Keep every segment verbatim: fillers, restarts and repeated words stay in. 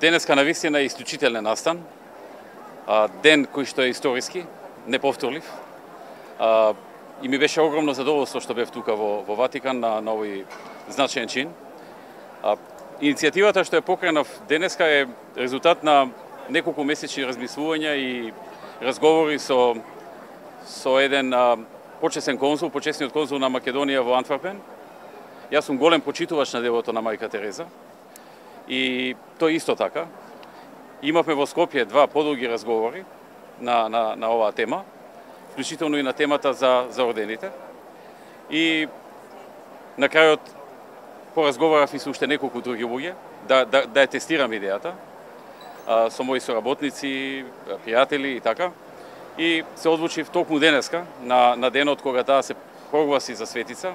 Денеска навистина е исклучителен настан, ден кој што е историски, неповторлив. И ми беше огромно задоволство што бев тука во, во Ватикан на, на овој значаен чин. Иницијативата што ја покренав денеска е резултат на неколку месечни размислувања и разговори со, со еден а, почесен конзул, почесниот конзул на Македонија во Антверпен. Јас сум голем почитувач на делото на мајка Тереза. И тој исто така. Имавме во Скопје два подолги разговори на, на, на оваа тема, вклучително и на темата за, за ордените. И на крајот поразговарав и со уште неколку други луѓе, да, да, да ја тестирам идејата, а, со мои соработници, пријатели и така. И се одлучив токму денеска, на, на денот кога таа се прогласи за светица,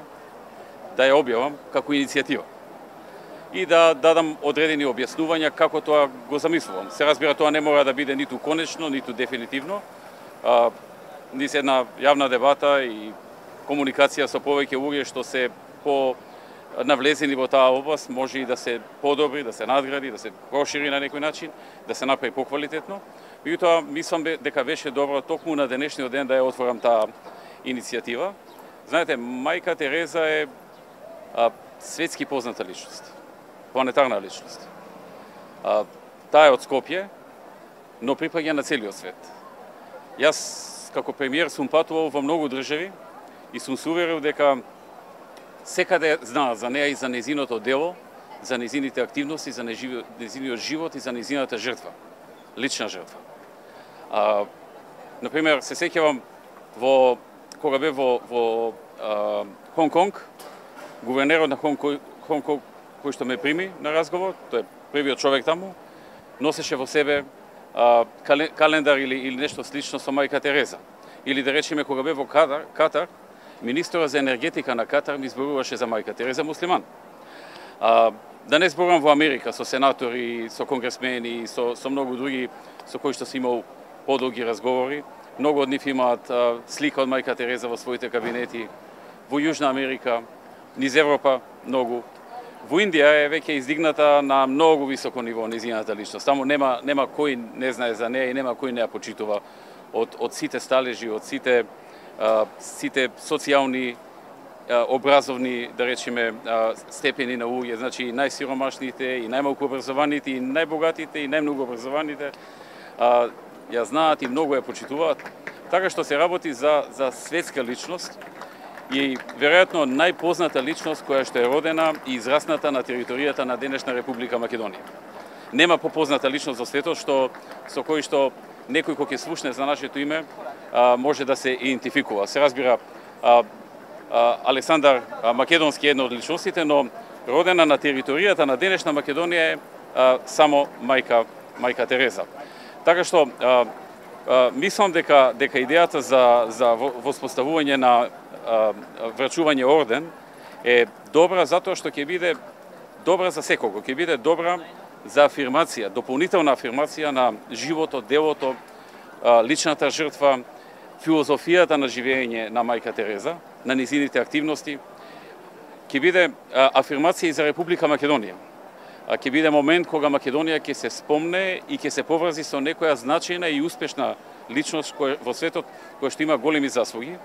да ја објавам како иницијатива. И да дадам одредени објаснувања како тоа го замислувам. Се разбира, тоа не мора да биде ниту конечно, ниту дефинитивно. А, низ една јавна дебата и комуникација со повеќе луѓе што се по навлезени во таа област може и да се подобри, да се надгради, да се прошири на некој начин, да се направи поквалитетно. Меѓутоа, мислам дека беше добро токму на денешниот ден да ја отворам таа иницијатива. Знаете, мајка Тереза е а, светски позната личност, планетарна личност. А, таа е од Скопје, но припаѓа на целиот свет. Јас, како премиер, сум патувал во многу држави и сум се уверил дека секаде знаат за неа и за незиното дело, за незините активности, за незиниот живот и за незината жртва, лична жртва. А, например, се сеќавам во кога бев во, во а, Хонг Конг, гувернерот на Хонг Конг кој што ме прими на разговор, тој е првиот човек таму, носеше во себе а, календар или, или нешто слично со мајка Тереза. Или да речеме кога бев во Катар, Катар министерот за енергетика на Катар ми зборуваше за мајка Тереза муслиман. А, да не зборувам во Америка со сенатори, со конгресмени, со, со многу други со кои што си имал подолги разговори. Многу од нив имаат а, слика од мајка Тереза во своите кабинети. Во Јужна Америка, низ Европа многу. Во Индија е веќе издигната на многу високо ниво незината личност. Таму нема нема кој не знае за неа и нема кој не ја почитува од од сите сталежи, од сите а, сите социјални, а, образовни, да речеме, а, степени на луѓе, значи и најсиромашните, и најмалку образованите, и најбогатите, и најмногу образованите, а, ја знаат и многу ја почитуваат. Така што се работи за за светска личност и веројатно најпозната личност која што е родена и израсната на територијата на денешна Република Македонија. Нема попозната личност во светот што со кој што некој кој ќе слушне за нашето име а, може да се идентификува. Се разбира, а, а, Александар а, Македонски е една од личностите, но родена на територијата на денешна Македонија е а, само мајка мајка Тереза. Така што а, а, мислам дека дека идејата за за воспоставување на а, врачување орден е добра затоа што ќе биде добра за секого, ќе биде добра за афирмација, дополнителна афирмација на животот, делото, личната жртва, филозофијата на живење на мајка Тереза, на незините активности. Ќе биде афирмација и за Република Македонија. Ќе биде момент кога Македонија ќе се спомне и ќе се поврзи со некоја значајна и успешна личност во светот која што има големи заслуги.